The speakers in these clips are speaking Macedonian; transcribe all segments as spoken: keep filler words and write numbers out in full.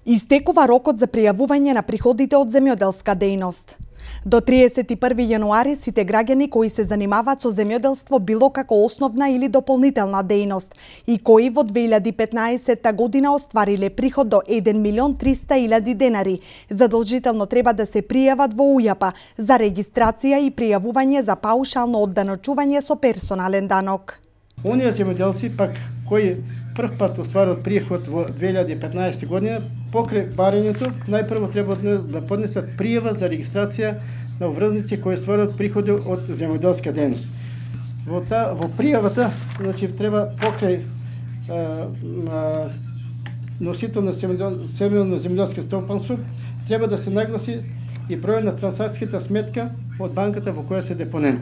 Истекува рокот за пријавување на приходите од земјоделска дејност. До триесет и први јануари сите граѓани кои се занимаваат со земјоделство било како основна или дополнителна дејност и кои во две илјади и петнаесетта година оствариле приход до еден милион триста илјади денари, задолжително треба да се пријават во ујапа за регистрација и пријавување за паушално одданочување со персонален данок. Оние земјоделци пак кои прв пат остварат приход во две илјади и петнаесетта година, покрај барањето, најпрво треба да поднесат пријава за регистрација на врзници кои остварат приходи од земјоделска дејност. Во, та, во пријавата, значи, треба покрај а, а, носител на семејно земјоделско стопанство, треба да се нагласи и број на трансакцијата сметка од банката во која се депонент.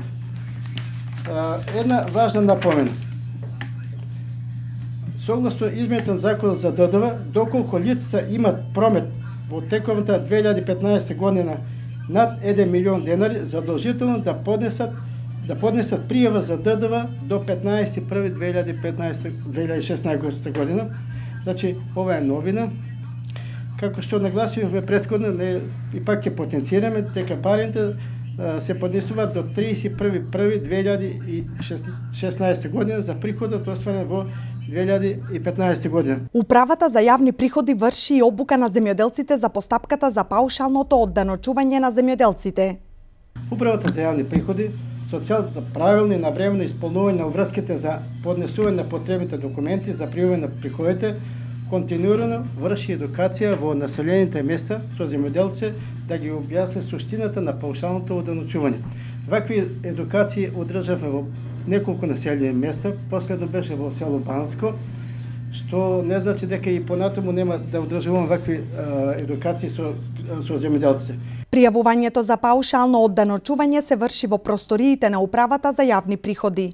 А, една важна напомена. Согласно измените на Законот за Д D V, доколку лицата имат промет во тековната две илјади и петнаесетта година над еден милион денари, задолжително да поднесат да поднесат пријава за Д D V до петнаесети први две илјади и шеснаесетта година. Значи, ова е новина. Како што нагласивме претходно, не, и пак ќе потенцираме, дека парите се поднесуваат до триесет и први први две илјади и шеснаесетта година за приходот остварен во две илјади и петнаесетта година. Управата за јавни приходи врши и обука на земјоделците за постапката за паушалното одданочување на земјоделците. Управата за јавни приходи со цел за правилно и навремено исполнување на врските за поднесување на потребните документи за пријавување на приходите, континуирано врши едукација во населените места со земјоделци да ги објасни суштината на паушалното одданочување. Вакви едукации одржавме во неколку населени места, последно беше во село Банско, што не значи дека и понатаму нема да одржуваме вакви а, едукации со, со земјоделците. Пријавувањето за паушално одданочување се врши во просториите на Управата за јавни приходи.